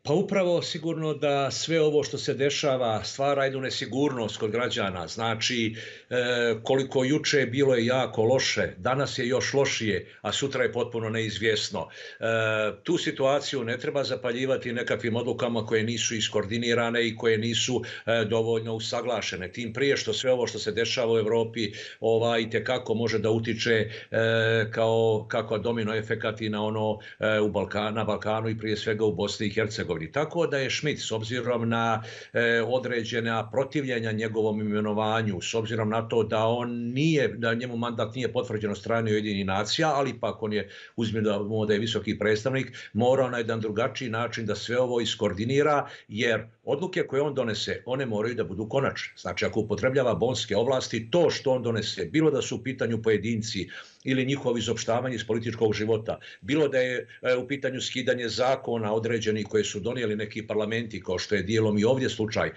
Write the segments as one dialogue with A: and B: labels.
A: Pa upravo sigurno da sve ovo što se dešava stvara jednu nesigurnost kod građana. Znači, koliko juče bilo je jako loše, danas je još lošije, a sutra je potpuno neizvjesno. Tu situaciju ne treba zapaljivati nekakvim odlukama koje nisu iskoordinirane i koje nisu dovoljno usaglašene. Tim prije što sve ovo što se dešava u Europi itekako može da utiče kako domino efekat i na ono na Balkanu i prije svega u Bosni i Hercegovini. Tako da je Schmidt, s obzirom na određena protivljenja njegovom imenovanju, s obzirom na to da njemu mandat nije potvrđen od strane Ujedinjenih nacija, ali ipak on je, uzmimo da je visoki predstavnik, morao na jedan drugačiji način da sve ovo iskoordinira, jer odluke koje on donese, one moraju da budu konačne. Znači, ako upotrebljava bonske ovlasti, to što on donese, bilo da su u pitanju pojedinci ili njihovo izopštavanje iz političkog života, bilo da je u pitanju skidanje zakona određenih koje su donijeli neki parlamenti, kao što je dijelom i ovdje slučaj,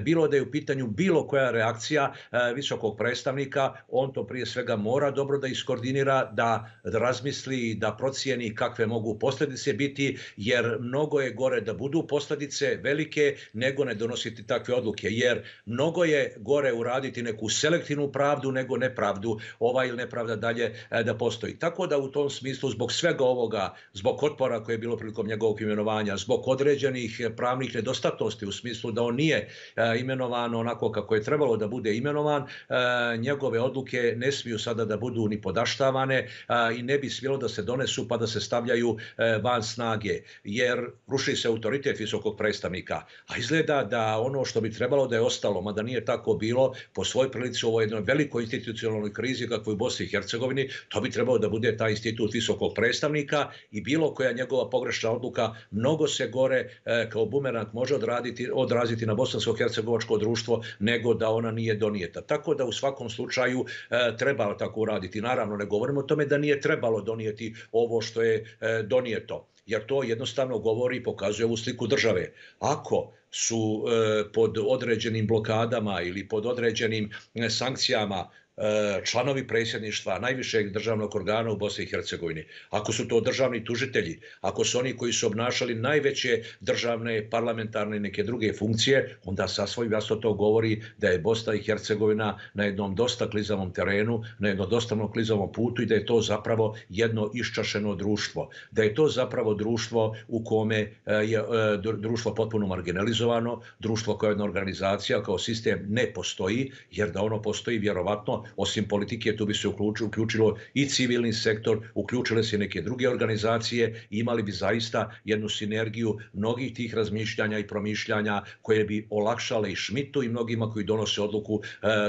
A: bilo da je u pitanju bilo koja reakcija visokog predstavnika, on to prije svega mora dobro da iskoordinira, da razmisli, da procijeni kakve mogu posljedice biti, jer mnogo je gore da budu posljedice velike nego ne donositi takve odluke, jer mnogo je gore uraditi neku selektivnu pravdu nego nepravdu, ili nepravda dalje da postoji. Tako da u tom smislu, zbog svega ovoga, zbog otpora koje je bilo prilikom njegovog imenovanja, zbog određenih pravnih nedostatnosti u smislu da on nije imenovan onako kako je trebalo da bude imenovan, njegove odluke ne smiju sada da budu ni podaštavane i ne bi smjelo da se donesu pa da se stavljaju van snage, jer ruši se autoritet visokog predstavnika. A izgleda da ono što bi trebalo da je ostalo, mada nije tako bilo, po svoj prilici u ovoj jednoj velikoj institucionalnoj krizi kakvoj u Bosni i Hercegovini, to bi trebalo da bude taj institut visokog predstavnika i bilo koja njegova pogrešna odluka mnogo se gore kao bumerang može odraziti na bosansko-hercegovačko društvo nego da ona nije donijeta. Tako da u svakom slučaju treba tako uraditi. Naravno, ne govorimo o tome da nije trebalo donijeti ovo što je donijeto, jer to jednostavno govori i pokazuje ovu sliku države. Ako su pod određenim blokadama ili pod određenim sankcijama članovi predsjedništva najvišeg državnog organa u Bosni i Hercegovini, ako su to državni tužitelji, ako su oni koji su obnašali najveće državne, parlamentarne i neke druge funkcije, onda sasvim jasno to govori da je Bosna i Hercegovina na jednom dosta klizavom terenu, na jednom dosta klizavom putu i da je to zapravo jedno iščašeno društvo. Da je to zapravo društvo u kome je društvo potpuno marginalizovano, društvo kao jedna organizacija, kao sistem ne postoji, jer da ono postoji vjerovatno osim politike, tu bi se uključilo i civilni sektor, uključile se neke druge organizacije i imali bi zaista jednu sinergiju mnogih tih razmišljanja i promišljanja koje bi olakšale i Schmidtu i mnogima koji donose odluku,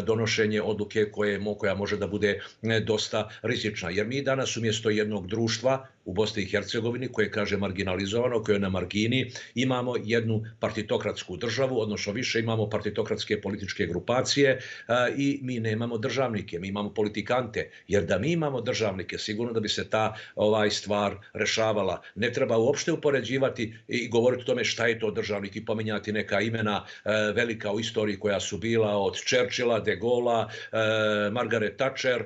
A: donošenje odluke koja može da bude dosta rizična. Jer mi danas umjesto jednog društva u Bosni i Hercegovini koje kaže marginalizovano, koje je na margini, imamo jednu partitokratsku državu, odnosno više imamo partitokratske političke grupacije i mi nemamo državnike, mi imamo politikante, jer da mi imamo državnike, sigurno da bi se ta stvar rešavala. Ne treba uopšte upoređivati i govoriti o tome šta je to državnik i pominjati neka imena velika u istoriji koja su bila od Churchilla, De Gaulle'a, Margaret Thatcher,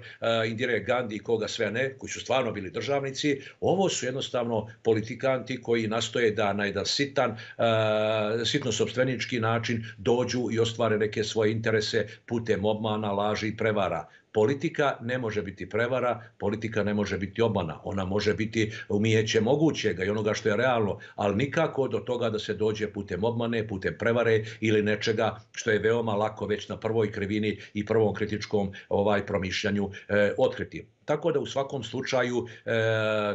A: Indire Gandhi i koga sve ne, koji su stvarno bili državnici. Ovo su jednostavno politikanti koji nastoje da na jedan sitno-sopstvenički način dođu i ostvare neke svoje interese putem obmana, laži i prevara. Politika ne može biti prevara, politika ne može biti obmana. Ona može biti umijeće mogućega i onoga što je realno, ali nikako do toga da se dođe putem obmane, putem prevare ili nečega što je veoma lako već na prvoj krivini i prvom kritičkom promišljanju otkriti. Tako da u svakom slučaju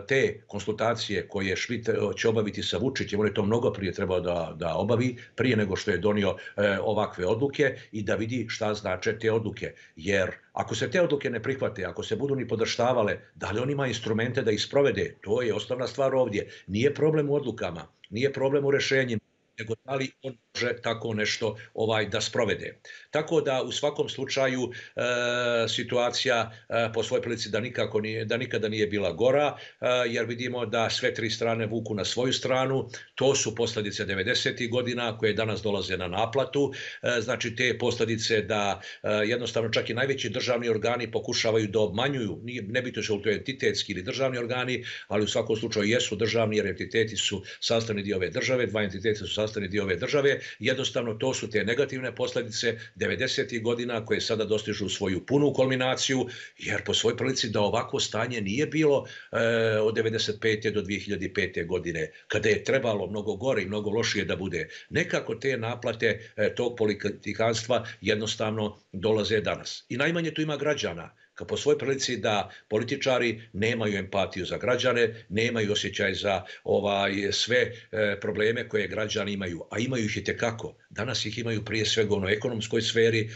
A: te konsultacije koje Schmidt će obaviti sa Vučićem, on je to mnogo prije trebao da obavi, prije nego što je donio ovakve odluke i da vidi šta znače te odluke. Jer ako se te odluke ne prihvate, ako se budu ni podrštavale, da li on ima instrumente da ih sprovede, to je osnovna stvar ovdje. Nije problem u odlukama, nije problem u rešenjima, nego da li on tako nešto da sprovede. Tako da u svakom slučaju situacija po svojoj prilici da nikada nije bila gora, jer vidimo da sve tri strane vuku na svoju stranu. To su posljedice 90. godina koje danas dolaze na naplatu. Znači te posljedice da jednostavno čak i najveći državni organi pokušavaju da obmanjuju, nebitno su li to entitetski ili državni organi, ali u svakom slučaju jesu državni jer entiteti su sastavni dio ove države, dva entiteta su sastavni dio ove države. Jednostavno to su te negativne posljedice 90. godina koje sada dostižu svoju punu kulminaciju, jer po svojoj prilici da ovako stanje nije bilo od 95. do 2005. godine, kada je trebalo mnogo gore i mnogo lošije da bude. Nekako te naplate tog politikanstva jednostavno dolaze danas. I najmanje tu ima građana, po svojoj prilici da političari nemaju empatiju za građane, nemaju osjećaj za sve probleme koje građani imaju, a imaju ih itekako. Danas ih imaju prije svega u ekonomskoj sferi,